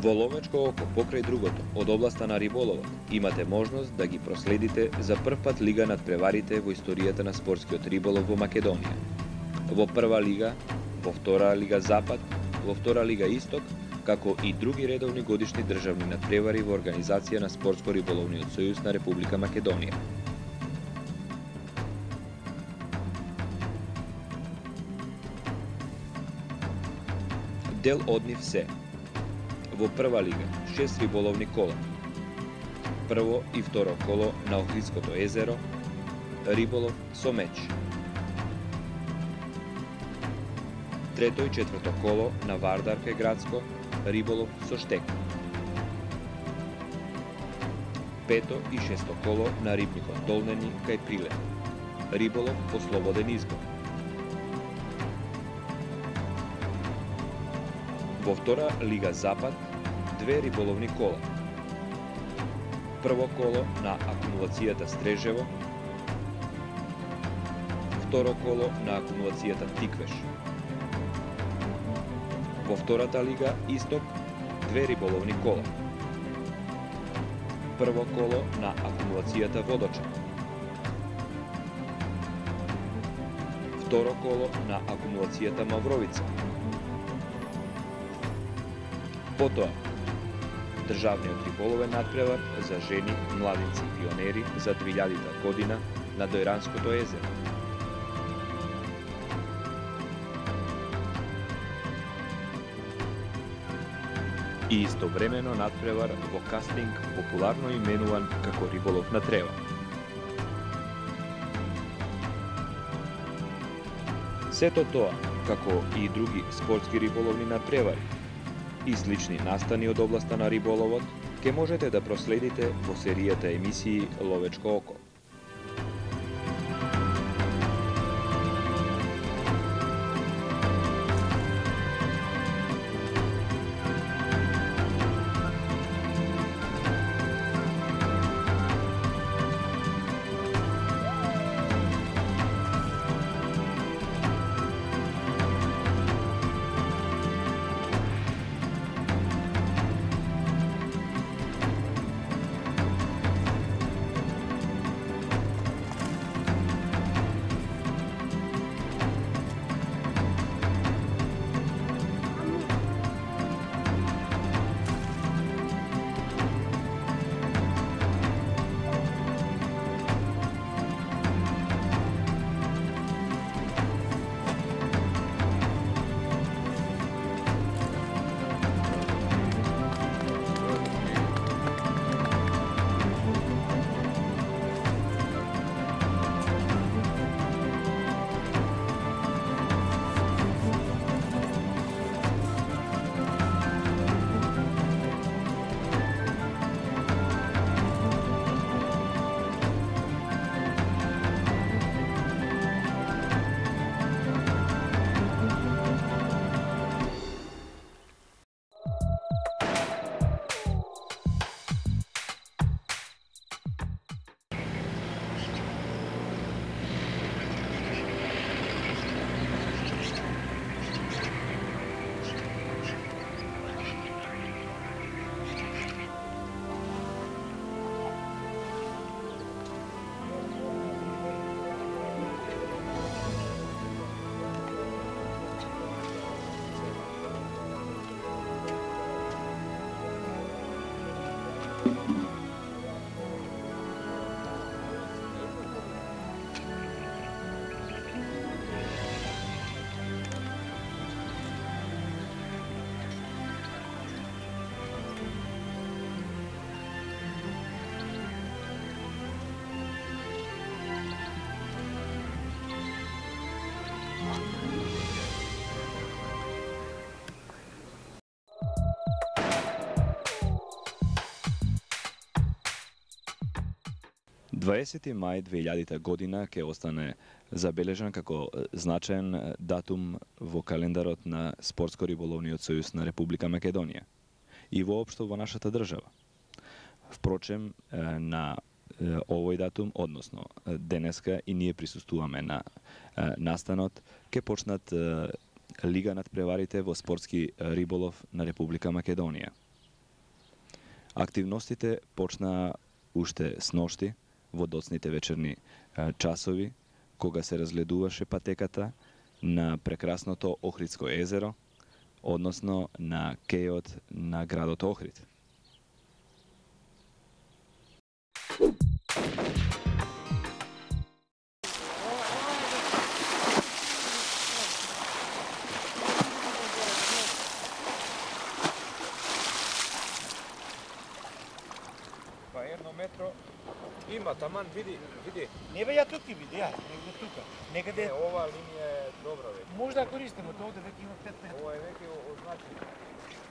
Во Ловечко око, покрај другото, од областа на риболовот, имате можност да ги проследите за прв пат лига надпреварите во историјата на спортскиот риболов во Македонија. Во прва лига, во втора лига Запад, во втора лига Исток, како и други редовни годишни државни надпревари во организација на Спортско-риболовниот сојуз на Република Македонија. Дел од нив се: во прва лига 6 риболовни кола, прво и второ коло на Охридското езеро, риболов со меч. Трето и четврто коло на Вардарке градско, риболов со штек. Пето и шесто коло на рибникот Долнени кај Прилеп, риболов по слободен избор. Во втора лига Запад 2 риболовни кола. Прво коло на акумулацијата Стрежево, второ коло на акумулацијата Тиквеш. Во втората лига Исток 2 риболовни кола. Прво коло на акумулацијата Водоча. Второ коло на акумулацијата Мавровица. Потоа, државниот риболовен надпревар за жени, младинци и пионери за 2000 година на Дојранското езеро. И истовремено надпревар во кастинг популарно именуван како риболов на трева. Сето тоа, како и други спортски риболовни надпревари и слични настани од областа на риболовот, ке можете да проследите во серијата емисии Ловечко око. Дваесети мај 2000 година ќе остане забележан како значаен датум во календарот на Спортско-риболовниот сојуз на Република Македонија и воопшто во нашата држава. Впрочем, на овој датум, односно денеска и ние присуствуваме на настанот, ќе почнат Лига надпреварите во спортски риболов на Република Македонија. Активностите почнаа уште сношти во доцните вечерни часови, кога се разгледуваше патеката на прекрасното Охридско езеро, односно на кејот на градот Охрид. Па едно метро има, таман, види. Не бе, ја тук ти види, негде тука. Негде Ова линија е добра веќе. може да користиме, тоа овде веќе има 5 метра. Ова е веќе означено.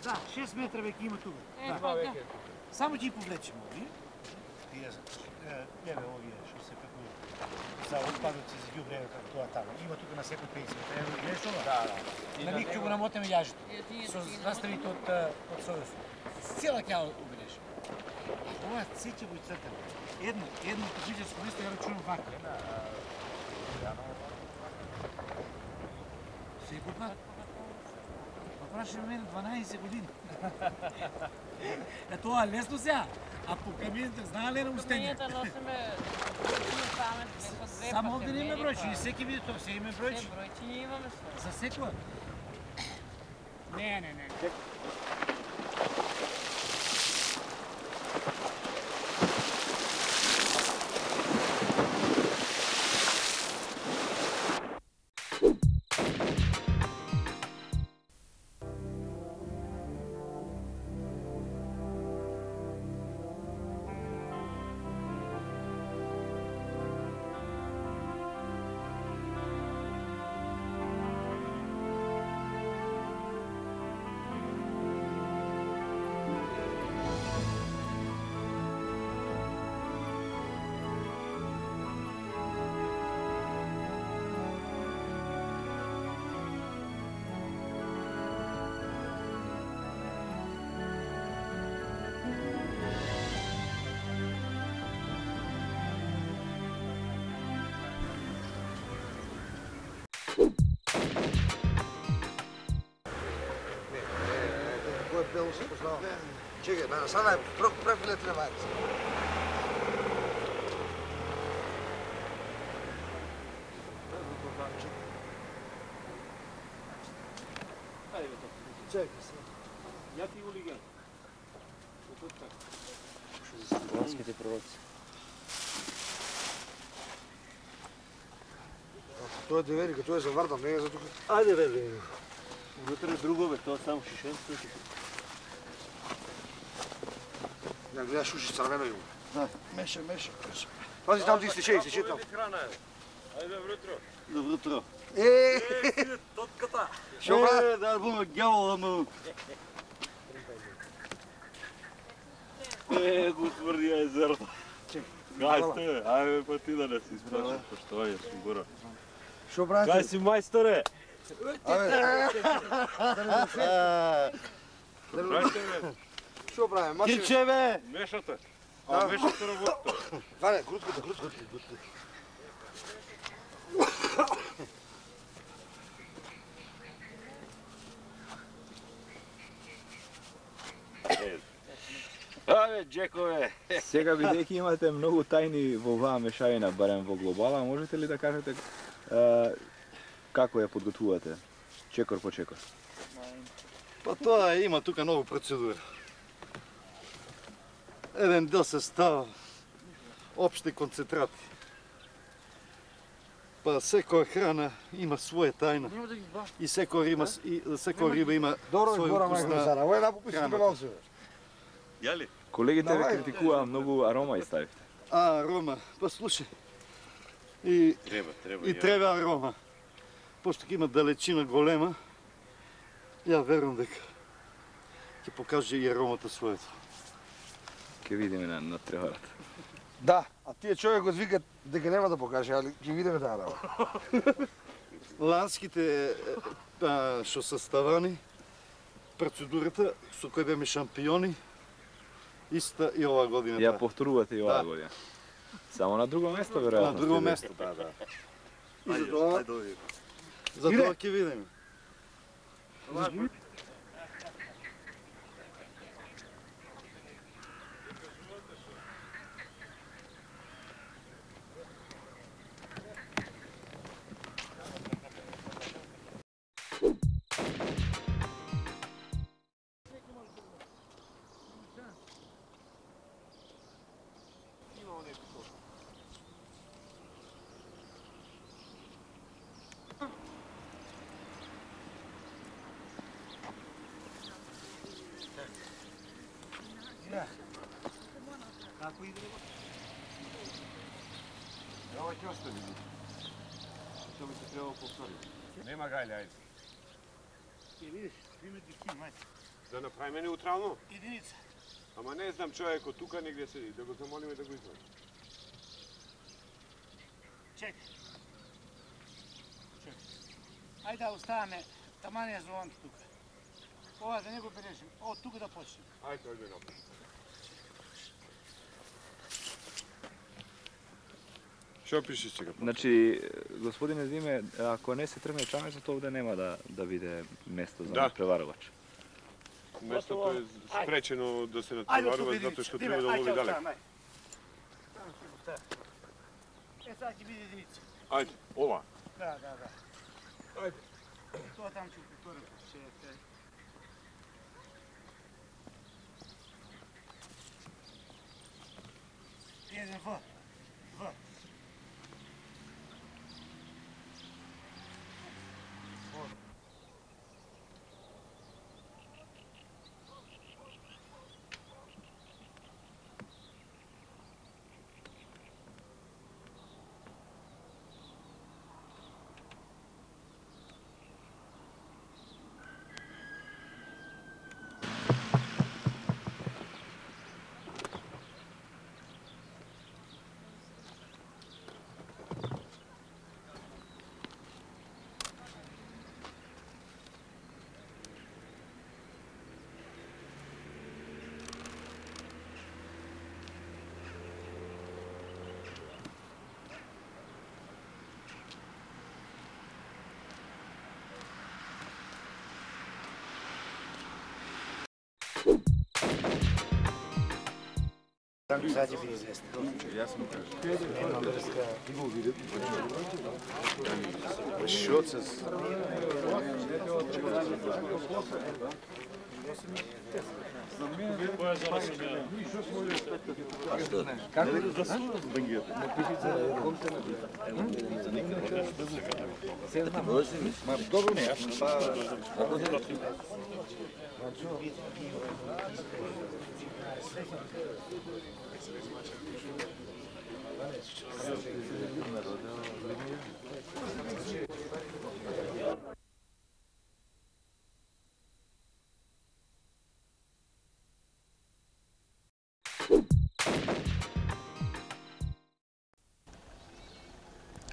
Да, 6 метра веќе има тука. Има веќе. Само ќе повлечеме ови. Тие еве овие што се како за отпадоци за ѓубре како тоа таму. Има тука на секој 50 метра. Ево гледаш ова? Да. На миг ќе го намотиме јажето. Со заставите од Сојуз. Цела ќе ја обележиме. Ова се ќе го ицртаме. Едно физичко место ја рачунам вака. Секој пат. Па прашаме мене 12 години. Е тоа лесно сега. А по камините знае ли на устење? Камините носиме памет по две. Само овде не има бројчи, секи види тоа, се има бројчи. Се бројчи ние имаме што. За секој? Не. Бело се познава. Чекај, сада е префиле треба. Чекај се. Ја ти го лиген. Ланските пророци. Тоа е деверика, тоа е за Вардар, не е за тука. Ајде вели. Внутре друго бе, тоа само шишенство. Ја гледаш уши црвено има. Да. Меша. Пази там ти истече там. Храна е. Ајде врутро. Добро утро. Тотката. Шо бра? Да бум ѓавол да му. Господи, езерото. Гајсте, ајде па ти да не си испрашаш, поштовање сигуро. Шо брате? Кај си мајсторе? Шо правиме? Мачи. Кирче бе! Мешате. А мешате работите. Ване, грутката. Абе, Джекове! Сега, бидејќи имате многу тајни во оваа мешавина, барем во глобала, можете ли да кажете како ја подготвувате, чекор по чекор? Па тоа има тука нову процедура. Еден дел се става општи концентрати. Па секоја храна има своја тајна. И секоја риба има Добро свој збора, вкус мајко на... Сара. Ово е напописи храната. певалци. Јали? Колегите ве Давај. критикуваа многу арома и ставите. Арома, па слушај. И треба арома. Пошто ќе има далечина голема, ја верувам дека ќе покаже и аромата својата. Ке видиме на треварата. Да, а тие човекот викат дека нема да покаже, али ќе видиме таа работа. Ланските што се ставани, процедурата со кој беме шампиони, иста и оваа година. Ја повторувате и оваа Да. година. Само на друго место, На веројатно. друго место, да. И за тоа, За тоа ќе видиме. Како иде? Ова ќе остане. Тоа би се требало повтори. Нема гајле, ајде. Ја видиш, примети ким, ајде. Да направиме неутрално? Единица. Ама не знам човекот тука негде седи, да го замолиме да го извади. Чекай. Ајде да оставаме таманија зоната тука. Ова да не го берешим, од тука да почнем. Ајде, ојде напред. Што пишеш сега? Значи, господине Диме, ако не се тргне чамецот, овде нема да биде место за Да. надпреварувач. Местото е спречено да се надпреварува затоа што треба да лови далек. Е, сега ќе биде единица. Ајде, ова. Да, да, да. Ајде. Тоа там ќе повторим. Еден В. В. Sad će biti izvesno. Јасно кажа. Nema vrska. Шоцес.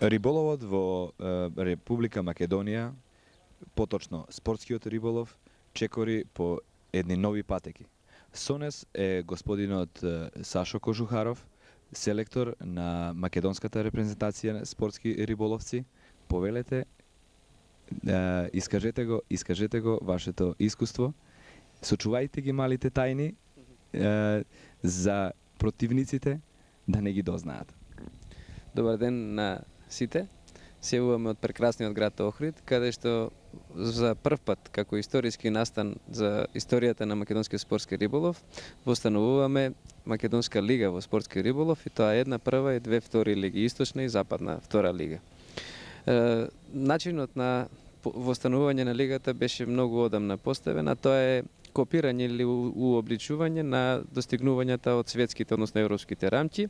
Риболовот во Република Македонија, поточно спортскиот риболов, чекори по едни нови патеки. Со нас е господинот Сашо Кожухаров, селектор на македонската репрезентација на спортски риболовци. Повелете, искажете го вашето искуство. Сочувајте ги малите тајни за противниците да не ги дознаат. Добар ден на сите. Се јавуваме од прекрасниот град Охрид, каде што за прв пат, како историски настан за историјата на македонскиот спортски риболов, востановуваме Македонска лига во спортски риболов, и тоа е една прва и две втори лиги, источна и западна втора лига. Начинот на востановување на лигата беше многу одамна поставен, а тоа е копирање или уобличување на достигнувањата од светските, односно европските рамки,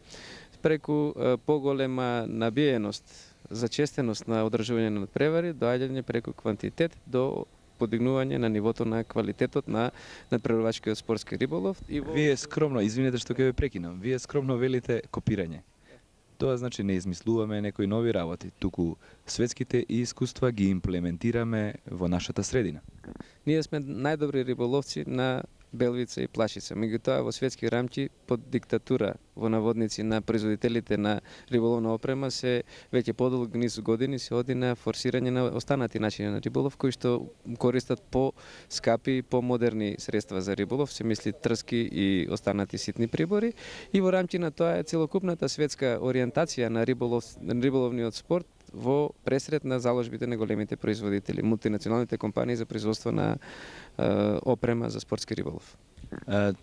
преку поголема набиеност, зачестеност на одржување на надпревари, доаѓање преку квантитет до подигнување на нивото на квалитетот на надпреварувачкиот спортски риболов. Вие скромно, извинете што ќе ве прекинам, вие скромно велите копирање. Тоа значи не измислуваме некои нови работи, туку светските искуства ги имплементираме во нашата средина. Ние сме најдобри риболовци на белвица и плашица. Меѓутоа во светски рамки под диктатура во наводници на производителите на риболовна опрема се веќе подолг низ години се оди на форсирање на останати начини на риболов кои што користат по-скапи и по-модерни средства за риболов, се мисли трски и останати ситни прибори, и во рамки на тоа е целокупната светска ориентација на риболовниот спорт во пресред на заложбите на големите производители, мултинационалните компании за производство на опрема за спортски риболов.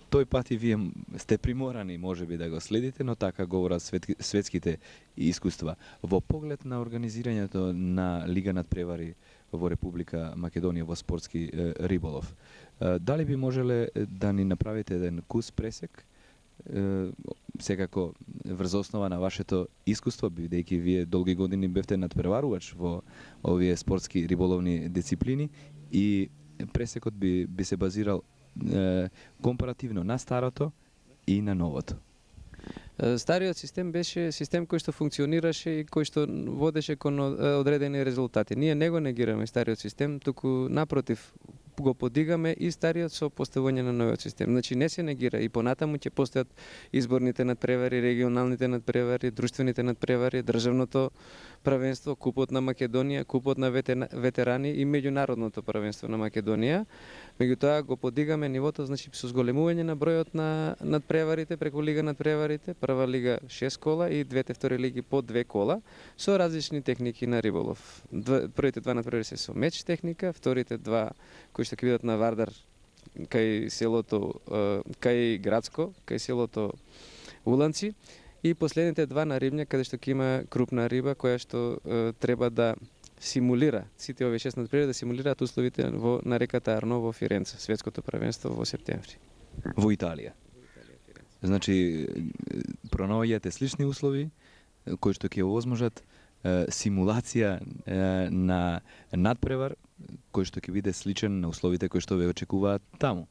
Тој пат и вие сте приморани можеби да го следите, но така говорат светските искуства. Во поглед на организирањето на Лига надпревари во Република Македонија во спортски риболов. Дали би можеле да ни направите еден кус пресек, секако врз основа на вашето искуство, бидејќи вие долги години бевте надпреварувач во овие спортски риболовни дисциплини, и пресекот би се базирал компаративно на старото и на новото. Стариот систем беше систем кој што функционираше и кој што водеше кон одредени резултати. Ние не го негираме стариот систем, туку напротив го подигаме и стариот со поставување на новиот систем. Значи не се негира, и понатаму ќе постојат изборните надпревари, регионалните надпревари, друштвените надпревари, државното правенство, купот на Македонија, купот на ветерани и меѓународното правенство на Македонија. Меѓутоа го подигаме нивото, значи со зголемување на бројот на надпреварите преку лига надпреварите, прва лига 6 кола и двете втори лиги по 2 кола со различни техники на риболов. Првите два надпревари се со меч техника, вторите два кои што ќе бидат на Вардар кај селото кај градско, кај селото Уланци, и последните два на Рибња, каде што ќе има крупна риба која што треба да симулира, сите овие 6 надпревари да симулираат условите на реката Арно во Фиренца, светското правенство во септември. Во Италија. Значи, пронаоѓате слични услови кои што ќе овозможат симулација на надпревар кој што ќе биде сличен на условите кои што ве очекуваат таму.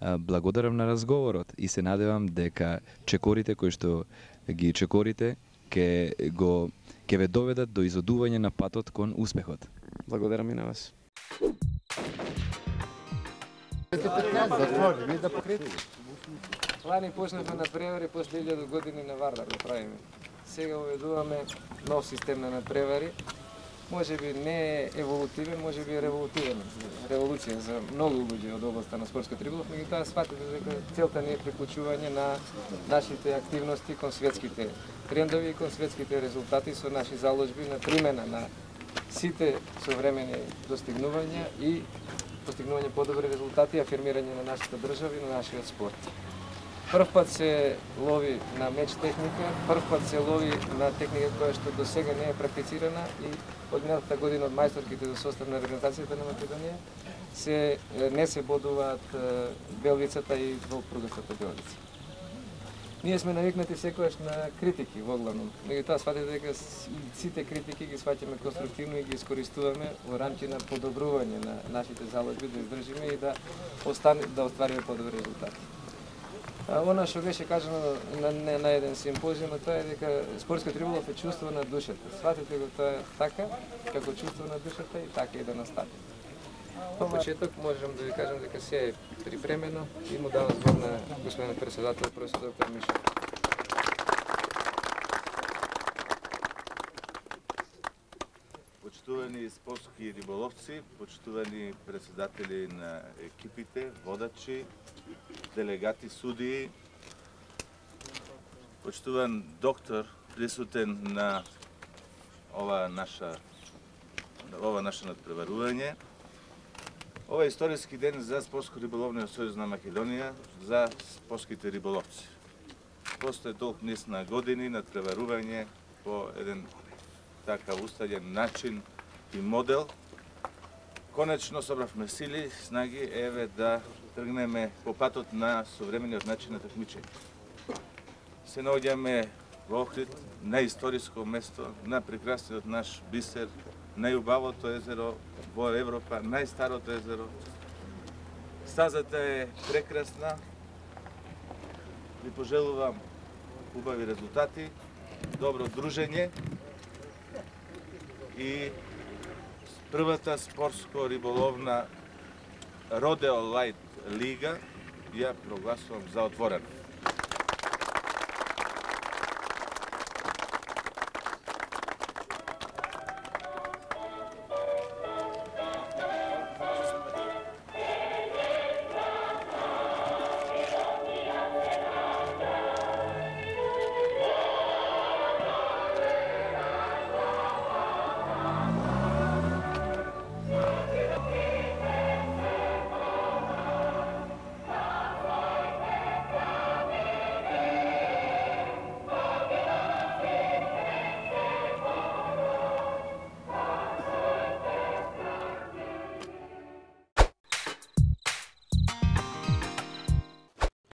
Благодарам на разговорот и се надевам дека чекорите кои што ги чекорите ќе ве доведат до изодување на патот кон успехот. Благодарам и на вас. Лани почнавме надпревари после 1000 години на Вардар да правиме. Сега уведуваме нов систем на надпревари. Може би не е еволутивен, може би е револутивен. Револуција за многу луѓе од областа на спортскиот риболов, меѓутоа сватите дека целта не е приклучување на нашите активности кон светските трендови и кон светските резултати со наши заложби на примена на сите современи достигнувања и постигнување подобри резултати и афирмирање на нашата држава и на нашиот спорт. Прв пат се лови на меч техника, прв пат се лови на техника која што до сега не е практицирана, и од минатата година од мајсторките до состав на регионалната на Македонија не се бодуваат белвицата и двопругастата белвица. Ние сме навикнати секогаш на критики во главном, меѓутоа сватите дека сите критики ги сваќаме конструктивно и ги искористуваме во рамки на подобрување на нашите заложби, да издржиме и да оствариме подобри резултати. Она што беше кажано на еден симпозиум, тоа е дека спортскиот риболов е чувство на душата. Сватите го тоа така, како чувство на душата, и така и да настави. По почеток можам да ви кажам дека се е припремено и му давам збор на господин председател, професор доктор Мишо. Почитувани спортски риболовци, почитувани председатели на екипите, водачи, делегати, судии, почитуван доктор присутен на ова наше надпреварување. Ова е историски ден за Спортско-риболовниот сојуз на Македонија, за спортските риболовци. После долг низ на години надпреварување по еден такав устален начин и модел, конечно собравме сили, снаги, еве да тргнеме по патот на современиот начин на такмичење. Се наоѓаме во Охрид, на историско место, на прекрасниот наш бисер, најубавото езеро во Европа, најстарото езеро. Стазата е прекрасна. Ви пожелувам убави резултати, добро дружење и првата спортско-риболовна Родео Лајт лига ја прогласувам за отворена.